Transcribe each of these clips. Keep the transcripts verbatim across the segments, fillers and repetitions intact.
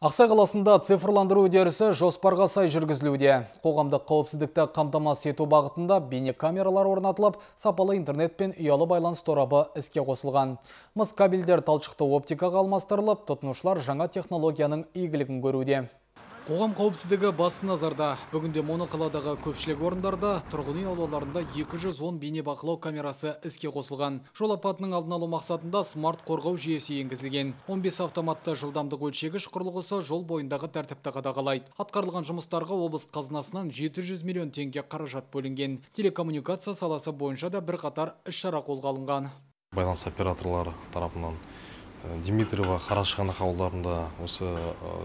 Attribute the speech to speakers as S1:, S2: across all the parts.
S1: Ақсай қаласында цифрландыру үдерісі жоспарға сай жүргізілуде. Қоғамдық қауіпсіздікті қамтамасыз ету бағытында бейнекамералар орнатылып, сапалы интернет пен ұялы байланыс торабы іске қосылған. Мыс кабельдер талшықты оптикаға алмастырылып, тұтынушылар жаңа технологияның игілігін көруде. Қоғам қауіпсіздігі басты назарда. Бүгінде моноқаладағы көпшілік орындарда тұрғын үй аулаларында екі жүз он бейнебақылау камерасы іске қосылған. Жол апатының алдын алу мақсатында смарт қорғау жүйесі енгізілген. он бес автоматты жылдамдық өлшегіш құрылғысы жол бойындағы тәртіпті қадағалайды. Атқарылған жұмыстарға облыс қазынасынан жеті жүз миллион теңге қаражат бөлінген. Телекоммуникация саласы бойынша да бірқатар іс-шара қолға алынған.
S2: Байланыс операторлары тарапынан Димитриева Қарашығанақ ауылдарында осы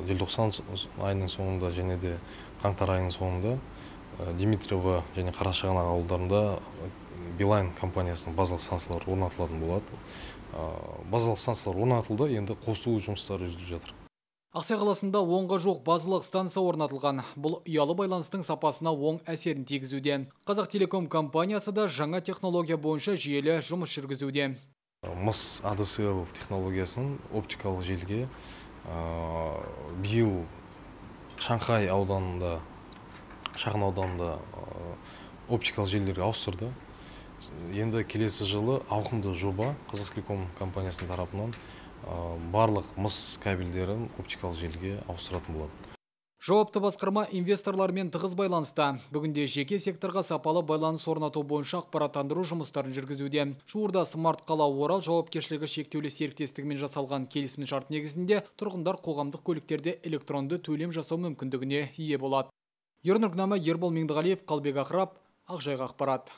S2: желтоқсан айының соңында және де қаңтар айының соңында Димитриева және Қарашығанақ ауылдарында Билайн компаниясының базалық станциялары орнатылатын болады. Базалық станциялар орнатылды, енді қосылу жұмыстары жүргізіліп жатыр.
S1: Ақсай қаласында онға жоқ базалық станция орнатылған. Бұл ұялы байланыстың сапасына оң әсерін тигізуде. Қазақтелеком компаниясы да жаңа технология бойынша жүйелі жұмыс жүргізуде.
S2: Мыс а дэ эс эл технологиясын оптикалық желіге биыл Шанхай ауданында, шағын ауданында оптикалық желілерге ауыстырды. Енді келесі жылы ауқымды жоба Қазақтелеком компаниясының тарапынан барлық мыс кабельдерін оптикалық желіге ауыстыратын болады.
S1: Жауапты басқарма инвесторлармен тығыз байланыста. Бүгінде жеке секторға сапалы байланыс орнату бойынша ақпараттандыру жұмыстарын жүргізуде. Жуырда смарт қала Орал жауапкершілігі шектеулі серіктестігімен жасалған келісім шарт негізінде тұрғындар қоғамдық көліктерде электронды төлем жасау мүмкіндігіне ие болады. Ернұр Ербол Меңдіғалиев, Қалбек Ақырап, Ақжайық ақпарат.